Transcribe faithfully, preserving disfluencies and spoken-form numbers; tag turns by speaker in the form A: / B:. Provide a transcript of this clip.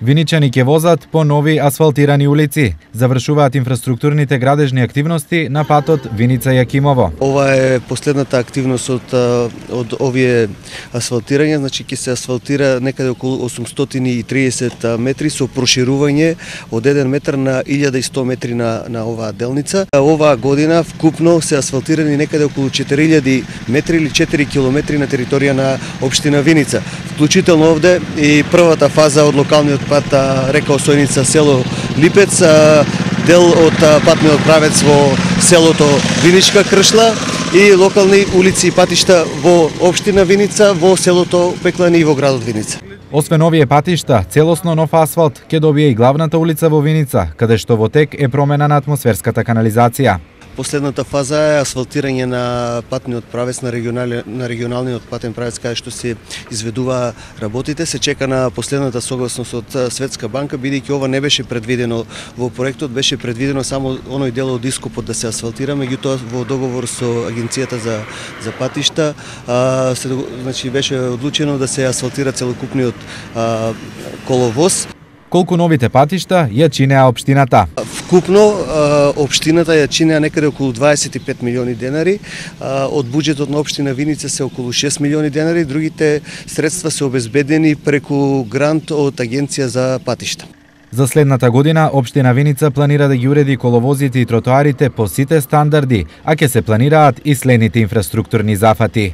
A: Виничани ќе возат по нови асфалтирани улици. Завршуваат инфраструктурните градежни активности на патот Виница-Јакимово.
B: Ова е последната активност од од овие асфалтирања, значи ќе се асфалтира некаде околу осумстотини и триесет метри со проширување од еден метар на илјада и сто метри на на оваа делница. Оваа година вкупно се асфалтирани некаде околу четири илјади метри или четири километри на територија на општина Виница. Вклучително овде и првата фаза од локалниот пат река Осојница село Липец, дел од патниот правец во селото Виничка Кршла и локални улици и патишта во општина Виница, во селото Пеклани и во градот Виница.
A: Освен овие патишта, целосно нов асфалт ќе добие и главната улица во Виница, каде што во тек е промена на атмосферската канализација.
B: Последната фаза е асфалтирање на патниот правец на регионалниот на регионалниот патен правец каде што се изведува работите. Се чека на последната согласност од Светска банка, бидејќи ова не беше предвидено во проектот, беше предвидено само оној дел од ископот да се асфалтира, меѓутоа во договор со агенцијата за за патишта, а, се, значи беше одлучено да се асфалтира целокупниот а, коловоз.
A: Колку новите патишта ја чинеа општината?
B: Вкупно општината ја чинеа некаде околу дваесет и пет милиони денари, од буџетот на општина Виница се околу шест милиони денари, другите средства се обезбедени преку грант од агенција за патишта.
A: За следната година општина Виница планира да ги уреди коловозите и тротоарите по сите стандарди, а ќе се планираат и следните инфраструктурни зафати.